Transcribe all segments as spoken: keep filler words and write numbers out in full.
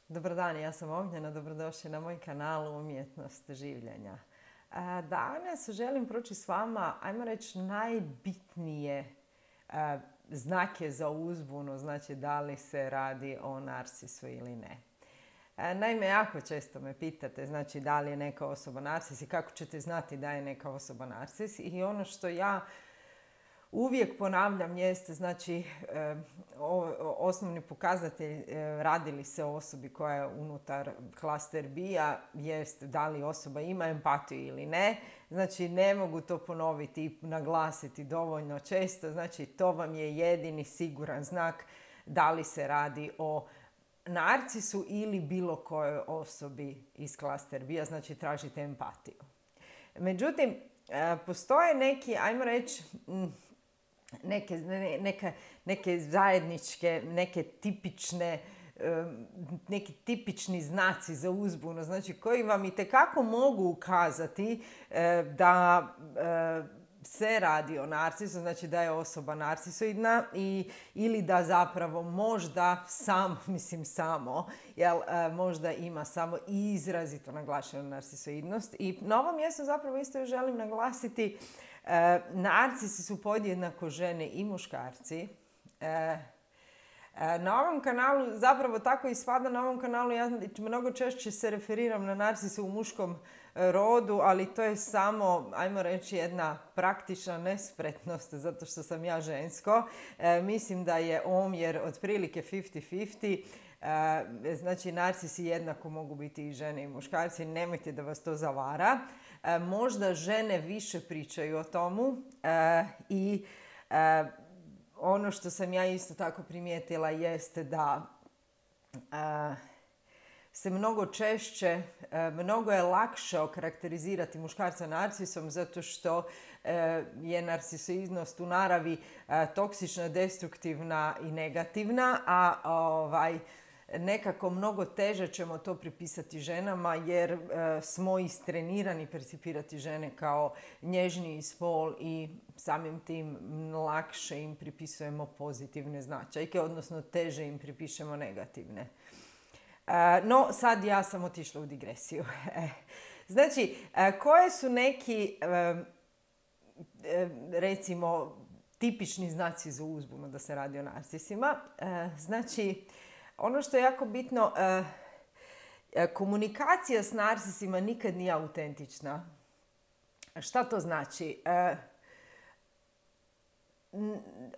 Dobar dan, ja sam Ognjena, dobrodošli na moj kanal Umjetnost življenja. Danas želim proći s vama, ajmo reći, najbitnije znake za uzbunu, znači da li se radi o narcisu ili ne. Naime, jako često me pitate, znači da li je neka osoba narcis i kako ćete znati da je neka osoba narcis. I ono što ja uvijek ponavljam jeste, znači, osnovni pokazatelj radi li se o osobi koja je unutar klaster B-a, jest da li osoba ima empatiju ili ne. Znači, ne mogu to ponoviti i naglasiti dovoljno često. Znači, to vam je jedini siguran znak da li se radi o narcisu ili bilo kojoj osobi iz klaster B-a, znači tražite empatiju. Međutim, postoje neki, ajmo reći, Neke, neke, neke zajedničke, neke tipične, neki tipični znaci za uzbunu, znači koji vam itekako mogu ukazati da se radi o narcisu, znači da je osoba narcisoidna i, ili da zapravo možda samo, mislim samo, jel, možda ima samo izrazito naglašenu narcisoidnost. I na ovom mjestu zapravo isto želim naglasiti, E, narcisi su podjednako žene i muškarci. E, e, na ovom kanalu, zapravo tako ispada na ovom kanalu, ja mnogo češće se referiram na narcise u muškom rodu, ali to je samo, ajmo reći, jedna praktična nespretnost, zato što sam ja žensko. E, mislim da je omjer otprilike pedeset pedeset. E, znači, narcisi jednako mogu biti i žene i muškarci, nemojte da vas to zavara. E, možda žene više pričaju o tomu e, i e, ono što sam ja isto tako primijetila jeste da e, se mnogo češće, e, mnogo je lakše okarakterizirati muškarca narcisom zato što e, je narcisoidnost u naravi e, toksična, destruktivna i negativna, a ovaj, nekako mnogo teže ćemo to pripisati ženama jer e, smo istrenirani percipirati žene kao nježniji spol i samim tim lakše im pripisujemo pozitivne značajke, odnosno teže im pripišemo negativne. E, no, sad ja sam otišla u digresiju. Znači, e, koje su neki, e, e, recimo, tipični znaci za uzbunu da se radi o narcisima? E, znači, ono što je jako bitno, komunikacija s narcisima nikad nije autentična. Šta to znači?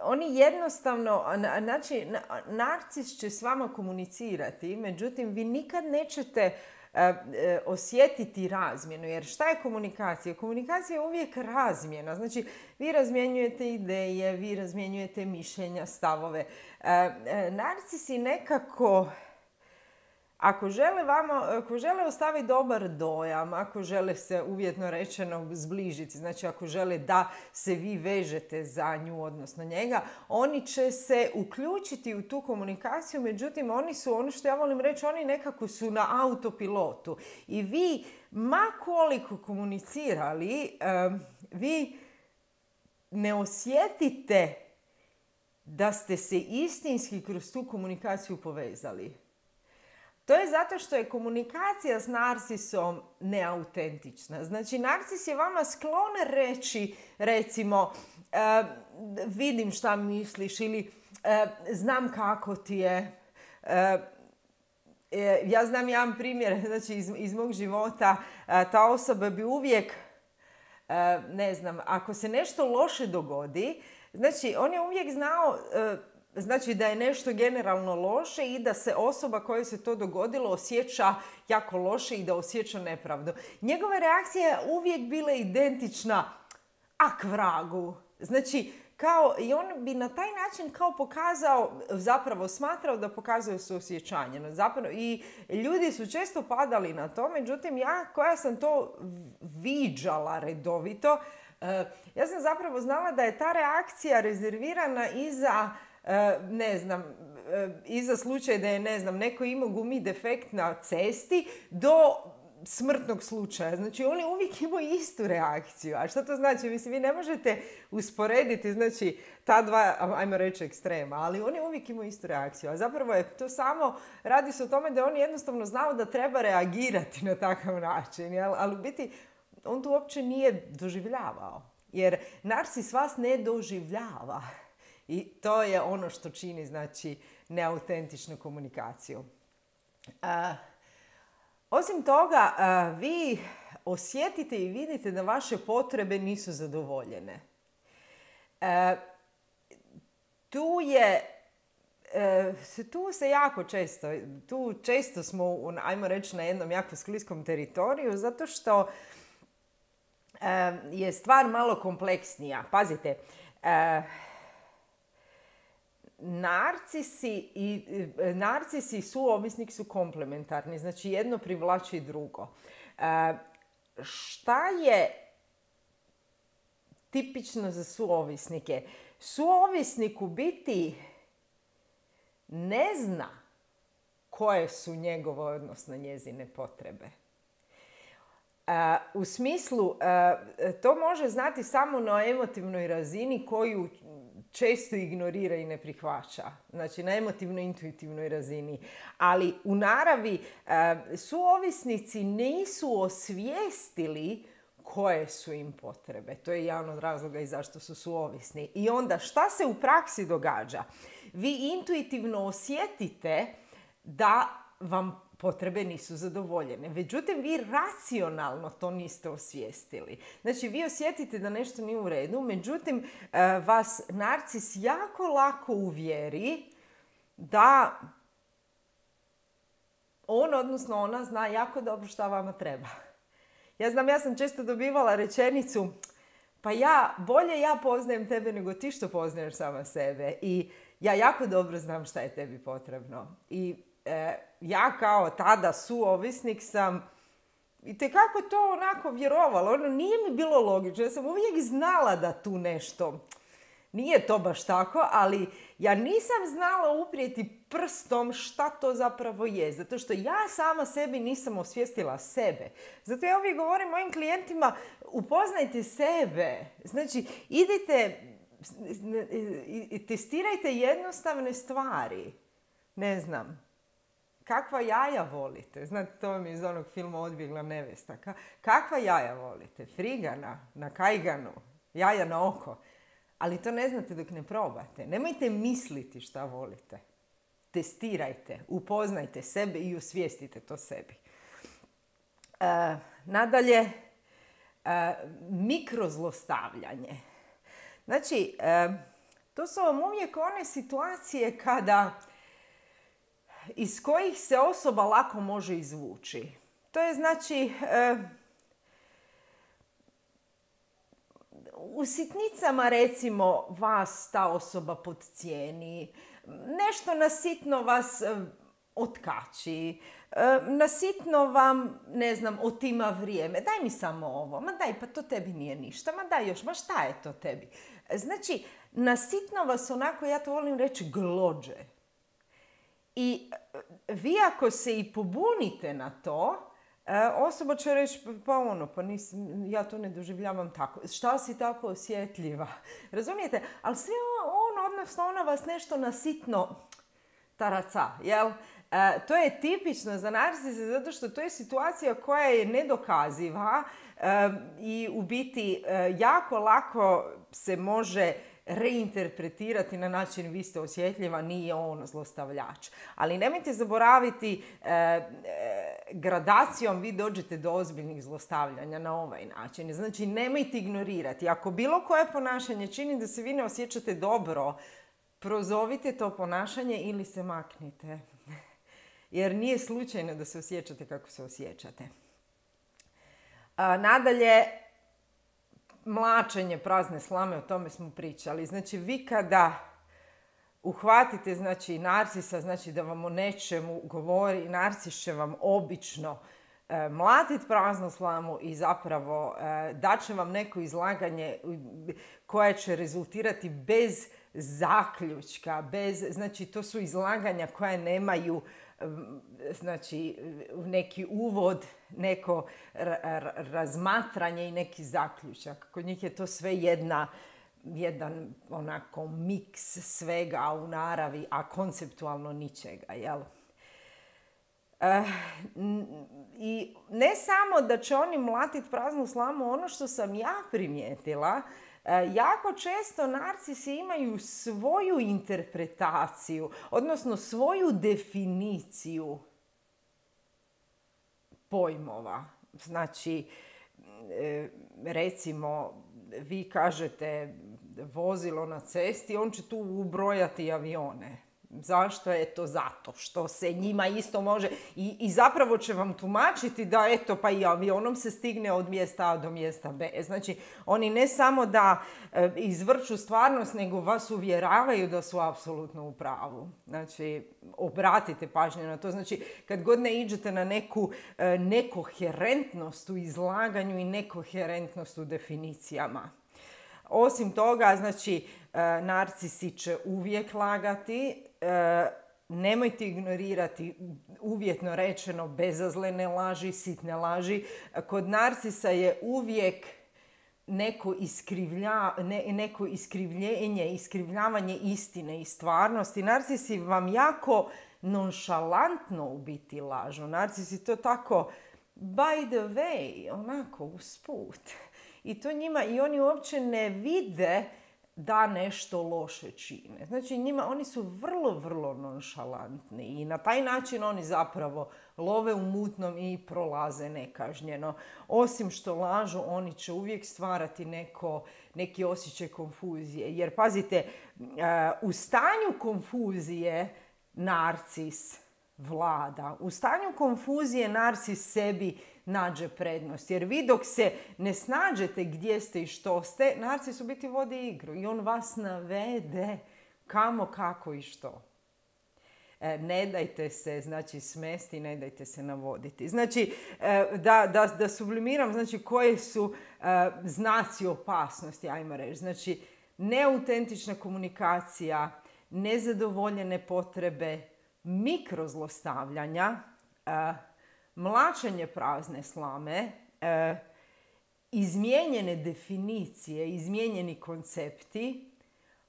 Oni jednostavno, znači, narcis će s vama komunicirati, međutim, vi nikad nećete osjetiti razmjenu. Jer šta je komunikacija? Komunikacija je uvijek razmjena. Znači, vi razmjenjujete ideje, vi razmjenjujete mišljenja, stavove. Narcisi nekako, ako žele vama, ako žele ostaviti dobar dojam, ako žele se uvjetno rečeno zbližiti, znači ako žele da se vi vežete za nju, odnosno njega, oni će se uključiti u tu komunikaciju, međutim oni su, ono što ja volim reći, oni nekako su na autopilotu. I vi, ma koliko komunicirali, vi ne osjetite da ste se istinski kroz tu komunikaciju povezali. To je zato što je komunikacija s narcisom neautentična. Znači, narcis je vama sklon reći, recimo, e, vidim šta misliš ili e, znam kako ti je. E, e, ja znam jedan primjer, znači, iz, iz mog života. E, ta osoba bi uvijek, e, ne znam, ako se nešto loše dogodi, znači, on je uvijek znao, e, znači da je nešto generalno loše i da se osoba kojoj se to dogodilo osjeća jako loše i da osjeća nepravdu. Njegova reakcija je uvijek bila identična, ak vragu. Znači, kao, i on bi na taj način kao pokazao, zapravo smatrao da pokazuje suosjećanje. Zapravo, i ljudi su često padali na to, međutim ja koja sam to viđala redovito, ja sam zapravo znala da je ta reakcija rezervirana i za, ne znam, i za slučaj da je, ne znam, neko imao gumi defekt na cesti, do smrtnog slučaja. Znači, oni uvijek imaju istu reakciju. A što to znači? Mislim, vi ne možete usporediti, znači, ta dva, ajmo reći, ekstrema, ali oni uvijek imaju istu reakciju. A zapravo je to samo, radi se o tome da oni jednostavno znaju da treba reagirati na takav način, jel? Ali u biti, on to uopće nije doživljavao. Jer narcis vas ne doživljava. I to je ono što čini, znači, neautentičnu komunikaciju. Uh, Osim toga, vi osjetite i vidite da vaše potrebe nisu zadovoljene. Tu je, tu se jako često, tu često smo, ajmo reći, na jednom jako skliskom teritoriju, zato što je stvar malo kompleksnija. Pazite, Narcisi i, narcisi i suovisnik su komplementarni, znači jedno privlači drugo. E, šta je tipično za suovisnike? Suovisnik u biti ne zna koje su njegove, odnosno njezine potrebe. E, u smislu, e, to može znati samo na emotivnoj razini koju često ignorira i ne prihvaća. Znači, na emotivno-intuitivnoj razini. Ali u naravi suovisnici nisu osvijestili koje su im potrebe. To je jedan od razloga i zašto su suovisni. I onda, šta se u praksi događa? Vi intuitivno osjetite da vam potrebe nisu zadovoljene. Međutim, vi racionalno to niste osvijestili. Znači, vi osjetite da nešto nije u redu, međutim, vas narcis jako lako uvjeri da on, odnosno ona, zna jako dobro šta vama treba. Ja znam, ja sam često dobivala rečenicu, pa ja, bolje ja poznajem tebe nego ti što poznaješ sama sebe. I ja jako dobro znam šta je tebi potrebno. I ja kao tada suovisnik sam itekako to onako vjerovala. Ono nije mi bilo logično. Ja sam uvijek znala da tu nešto nije to baš tako, ali ja nisam znala uprijeti prstom šta to zapravo je. Zato što ja sama sebi nisam osvijestila sebe. Zato ja uvijek govorim mojim klijentima, upoznajte sebe. Znači, idite i testirajte jednostavne stvari. Ne znam. Kakva jaja volite? Znate, to mi je iz onog filma Odbjegla nevesta. Kakva jaja volite? Frigana, na kajganu, jaja na oko. Ali to ne znate dok ne probate. Nemojte misliti šta volite. Testirajte, upoznajte sebe i osvijestite to sebi. E, nadalje, e, mikrozlostavljanje. Znači, e, to su vam uvijek one situacije kada iz kojih se osoba lako može izvući. To je znači e, u sitnicama, recimo, vas ta osoba podcijeni, nešto na sitno vas e, otkači, e, na sitno vam, ne znam, otima vrijeme. Daj mi samo ovo, ma daj, pa to tebi nije ništa, ma daj još, ma šta je to tebi? Znači, na sitno vas onako, ja to volim reći, glođe. I vi ako se i pobunite na to, osoba će reći, pa ono, pa nisam, ja to ne doživljavam tako. Šta si tako osjetljiva? Razumijete? Ali sve on, odnosno ona vas nešto nasitno taraca, jel? E, to je tipično za narcise zato što to je situacija koja je nedokaziva e, i u biti e, jako lako se može reinterpretirati na način vi ste osjetljiva, nije on zlostavljač. Ali nemojte zaboraviti, e, e, gradacijom vi dođete do ozbiljnih zlostavljanja na ovaj način. Znači, nemojte ignorirati. Ako bilo koje ponašanje čini da se vi ne osjećate dobro, prozovite to ponašanje ili se maknite. Jer nije slučajno da se osjećate kako se osjećate. A, nadalje, mlačenje prazne slame, o tome smo pričali. Znači, vi kada uhvatite, znači, narcisa, znači da vam o nečemu govori, narcis će vam obično e, mlatiti praznu slamu i zapravo e, daće vam neko izlaganje koje će rezultirati bez zaključka, bez, znači, to su izlaganja koja nemaju znači neki uvod, neko razmatranje i neki zaključak. Kod njih je to sve jedna, jedan onako miks svega u naravi, a konceptualno ničega, jel? Uh, I ne samo da će oni mlatiti praznu slamu, ono što sam ja primijetila, uh, jako često narcisi imaju svoju interpretaciju, odnosno svoju definiciju pojmova. Znači, recimo, vi kažete vozilo na cesti, on će tu ubrojati avione. Zašto? Eto zato što se njima isto može i, i zapravo će vam tumačiti da eto pa i avionom se stigne od mjesta A do mjesta B. Znači oni ne samo da e, izvrću stvarnost, nego vas uvjeravaju da su apsolutno u pravu. Znači obratite pažnju na to. Znači kad god ne iđete na neku e, nekoherentnost u izlaganju i nekoherentnost u definicijama. Osim toga, znači, narcisi će uvijek lagati, nemojte ignorirati uvjetno rečeno bezazlene laži, sitne laži. Kod narcisa je uvijek neko, iskrivlja, ne, neko iskrivljenje, iskrivljavanje istine i stvarnosti. Narcisi vam jako nonšalantno u biti lažu. Narcisi to tako by the way, onako usput. I to njima, i oni uopće ne vide da nešto loše čine. Znači njima, oni su vrlo, vrlo nonšalantni i na taj način oni zapravo love u mutnom i prolaze nekažnjeno. Osim što lažu, oni će uvijek stvarati neko, neki osjećaj konfuzije. Jer pazite, u stanju konfuzije narcis vlada. U stanju konfuzije narcis sebi nađe prednost. Jer vi dok se ne snađete gdje ste i što ste, narcis u biti vodi igru i on vas navede kamo, kako i što. E, ne dajte se, znači, smesti, ne dajte se navoditi. Znači, e, da, da, da sublimiram, znači, koje su e, znaci opasnosti, ajmo reći. Znači, neautentična komunikacija, nezadovoljene potrebe, mikrozlostavljanja, e, mlačenje prazne slame, e, izmijenjene definicije, izmijenjeni koncepti,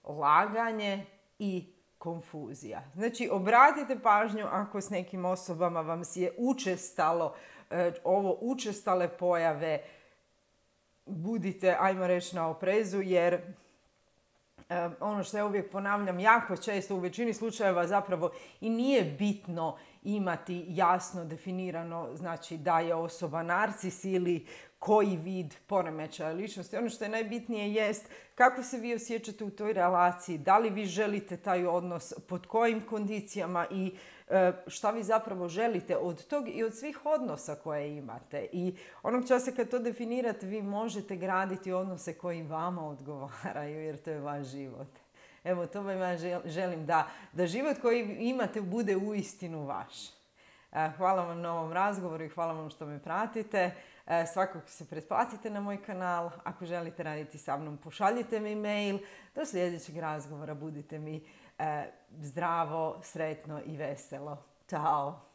laganje i konfuzija. Znači, obratite pažnju ako s nekim osobama vam je učestalo, e, ovo učestale pojave, budite, ajmo reći, na oprezu, jer e, ono što ja uvijek ponavljam, jako često u većini slučajeva zapravo i nije bitno imati jasno definirano, znači da je osoba narcis ili koji vid poremećaja ličnosti. Ono što je najbitnije jest kako se vi osjećate u toj relaciji, da li vi želite taj odnos, pod kojim kondicijama i e, šta vi zapravo želite od tog i od svih odnosa koje imate. I onog časa kad to definirate, vi možete graditi odnose koji vama odgovaraju, jer to je vaš život. Evo, to vam ja želim, da, da život koji imate bude uistinu vaš. Hvala vam na ovom razgovoru i hvala vam što me pratite. Svakako se pretplatite na moj kanal. Ako želite raditi sa mnom, pošaljite mi mail. Do sljedećeg razgovora budite mi zdravo, sretno i veselo. Ćao!